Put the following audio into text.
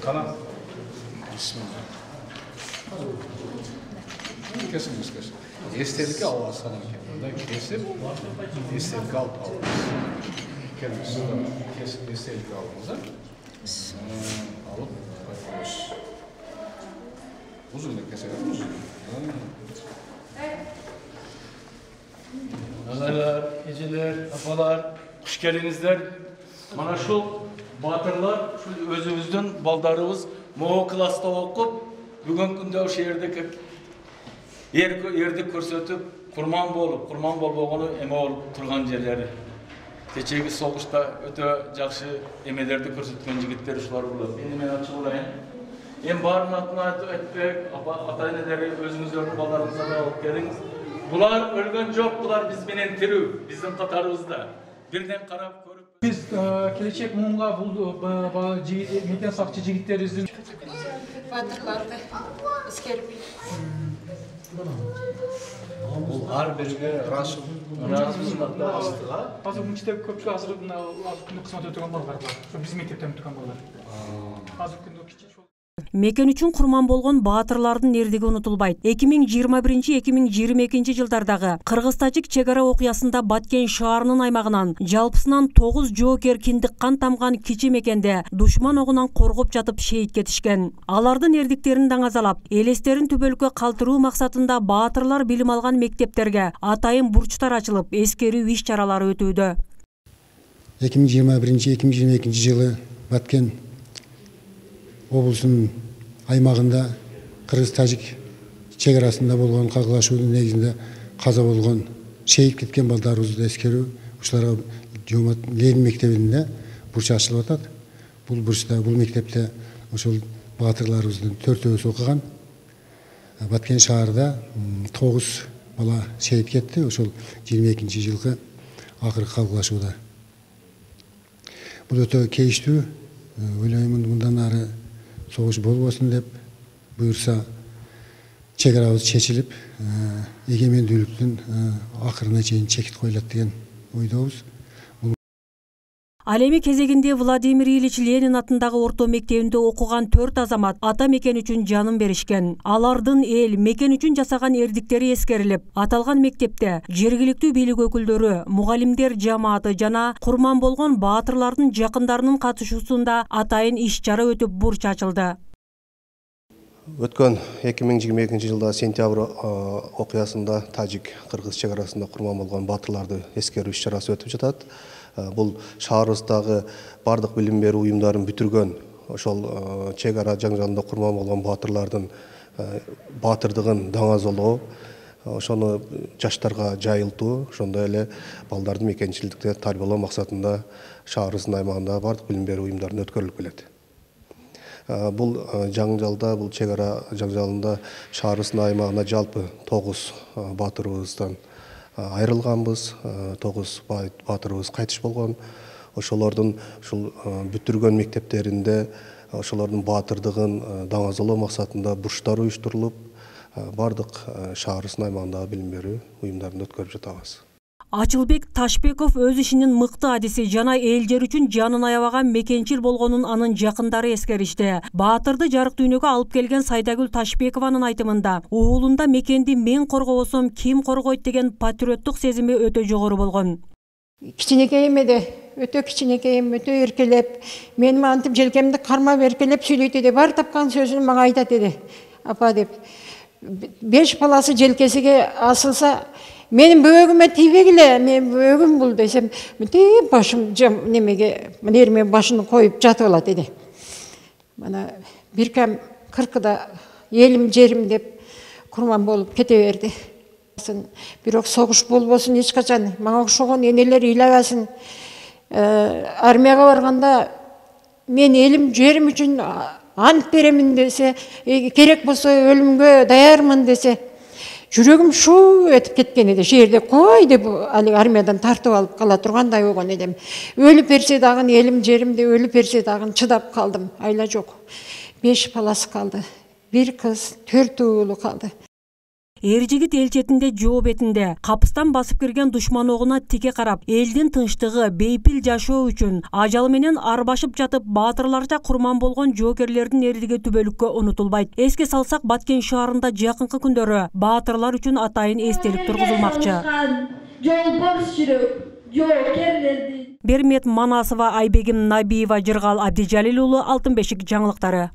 Kalan. Bismillah. Kesin. Estelik al sana kendine. Kesip estelik al. Kendisi kesin estelik aldığınızda alıp koyuyoruz. Uzun da keselim uzun. Analar, geceler, apalar, hoş geldinizler. Mana şu batırlar, şu özümüzdün baldarımız Moğol klasta okup, bugün günde o şehirde yerdik көрсөтүп, kurman bolbogonu eme olup turgan yerleri. Keçegi soğuşta öte jakşı emelerdi көрсөткөн jigitler uşular bolot. Endi men açık olayım. En barın atına etpek, ata-eneleri özünüzlerini ballarınıza da alıp geliniz. Bular ölgön jok, bular biz menen tiriu, bizim katarыбызda. Birden karap көрүp. Biz келечек муунга бул мекен сакчы жигиттерибиздин батырларды эскерип. Бул ар бирге разыбызда астыга. Азыр мектеп көпчүлүк азыр мына кызмат өтөгөн балдар бар. Ошо биздин мектептен өтөгөн балдар. Азыр күндө кичи Мекен үчүн курман болгон баатырлардын эрдиги унутулбайт. 2021-2022 жылдардагы кыргыз-тажик чек ара окуясында Баткен шаарынын аймагынан жалпысынан 9 жоокер киндик кан тамган кичи мекенде душман огунан коргоп жатып шейит кетишкен. Алардын эрдиктерин даңазалап, элестерин түбөлүккө калтыруу максатында баатырлар билим алган мектептерге атайын бурчтар ачылып, эскерүү иш чаралары өтүүдө. 2021-2022 жылы Баткен облусунун аймагында кыргыз-тажик чек арасында болгон кагылашуунун негизинде каза болгон, шейит кеткен балдарыбызды эскерүү, ушуларга Жомат Ленин мектебинде бурч ачылып атат. Бул бурчта, бул мектепте ошол баатырларыбыздын 4-өөсү окуган. Баткен шаарында 9 бала шейит кетти, ошол 22 жылкы акыркы кагылашууда. Бул өтө кейиштүү, ойлоймун мындан ары согуш болбосун деп буюрса чек арабыз чечилип, эгемендүүлүктүн акырына чейин чекит коюлат деген ойдобуз. Ал эми кезегинде Владимир Ильич Ленин атындагы орто мектебинде окуган 4 азамат ата мекен үчүн жанын беришкен. Алардын эл, мекен үчүн жасаган эрдиктери эскерилип, аталган мектепте жергиликтүү бийлик өкүлдөрү, мугалимдер жамааты жана курман болгон баатырлардын жакындарынын катышуусунда атайын иш чара өтүп бурч ачылды. Өткөн 2022 жылда сентябрь окуясында Тажик-Кыргыз чек арасында курман болгон баатырларды эскерүү иш чарасы өтүп жатат. Бул шаарыбыздагы бардык билим берүү уюмдарын бүтүргөн, ошол чек ара жаңжалында курман болгон баатырлардын баатырдыгын даңазалоо, ошону жаштарга жайылтуу, ошондой эле балдардын мекенчиликте тарбиялоо максатында шаарыбыздын аймагында бардык билим берүү уюмдарында өткөрүлүп келет. Бул жаңжалда, бул чек ара жаңжалында шаарыбыздын аймагына жалпы 9 баатырыбыздан айрылганбыз, 9 баатырыбыз кайтыш болгон. Ошолордун ушул бүтүргөн мектептеринде ошолордун баатырдыгын даңазалоо максатында бурчтар уюштурулуп, бардык шаарыбыздын аймагындагы билим берүү уюмдарында өткөрүп жатабыз. Ачылбек Ташбеков өз ишинин мыкты адиси жана эл жер үчүн жанын аябаган мекенчил болгонун анын жакындары эскеришти. Баатырды жарык дүйнөгө алып келген Сайдагүл Ташбекованын айтымында, уулунда мекенди мен коргобосом ким коргойт деген патриоттук сезими өтө жогору болгон. Кичинекейим эди, өтө кичинекейим, өтө эркелеп, мени антип желкемди кармап эркелеп сүйлөйт эди, бар тапкан сөзүн мага айтат эди. Апа деп, 5 баласы желкесиге асылса, менин бөөгүмө тийбегиле, мен бөөгүм бул десем, мынтип башым немеге, мынерме башын коюп жатып алат эди. Мана бир кам 40да элим жерим деп курман болуп кете берди. Бирок согуш болбосун эч качан, мага окшогон энелер ыйлабасын. Армияга барганда мен элим жерим үчүн ант беремин десе, керек болсо өлүмгө даярмын десе, жүрөгүм шу этип кеткен эди. Жерде кой деп али армиядан тартып алып кала тургандай болгон эдим. Өлүп берсе дагы элим жеримде өлүп берсе дагы чыдап калдым. Айла жок. 5 баласы калды. 1 кыз, 4 уулу калды. эр жигит эл четинде жоо бетинде капыстан басып кирген душман огуна тике карап, элдин тынчтыгы, бейпил жашоо үчүн ажалы менен арбашып жатып, баатырларча курман болгон жоокерлердин эрдиги түбөлүккө унутулбайт. Эске салсак, Баткен шаарында жакынкы күндөрү баатырлар үчүн атайын эстелик тургузулмакчы. Жолборс жүрөк жоокерлерди. Бермет Манасова, Айбегим Набиева, Жыргал Абдижалил уулу, Алтын бешик жаңылыктары.